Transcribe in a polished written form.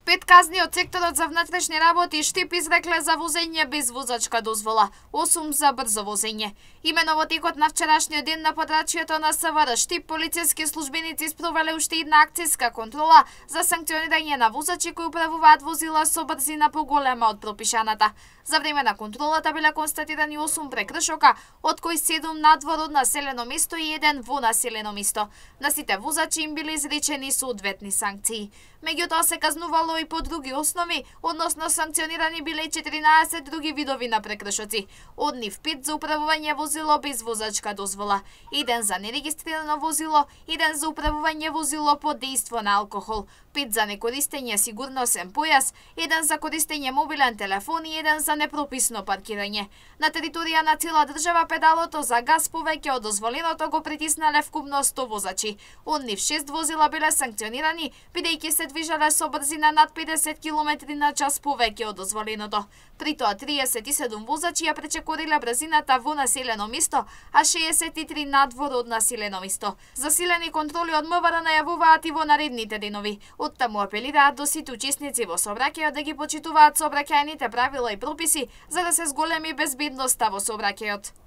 5 казни од секторот за внатрешни работи и Штип изрекле за возење без возачка дозвола, 8 за брзо возење. Имено во текот на вчерашниот ден на подрачјето на СВР Штип полициски службеници спровеле уште една акцијска контрола за санкционирање на возачи кои управуваат возила со брзина поголема од пропишаната. За време на контролата биле констатирани 8 прекршока, од кои 7 надвор од населено место и 1 во населено место. На сите возачи им биле изречени соодветни санкции. Меѓутоа се казнувало и по други основи, односно санкционирани биле 14 други видови на прекршоци. Од нив 5 за управување возило без возачка дозвола, 1 за нерегистрирано возило, 1 за управување возило под дејство на алкохол, 5 за некористење сигурносен појас, 1 за користење мобилен телефон и 1 за непрописно паркирање. На територија на цела држава педалото за газ повеќе од дозволеното го притиснале вкупно 100 возачи. Од нив 6 возила биле санкционирани, бидејќи се движеле со брзина над 50 км на час повеќе од дозволеното. При тоа 37 возачи ја пречекориле брзината во населено место, а 63 надвор од населено место. Засилени контроли од МВР најавуваат и во наредните денови. Оттаму апелираат до сите учесници во сообраќајот да ги почитуваат сообраќајните правила и прописи за да се зголеми безбедноста во сообраќајот.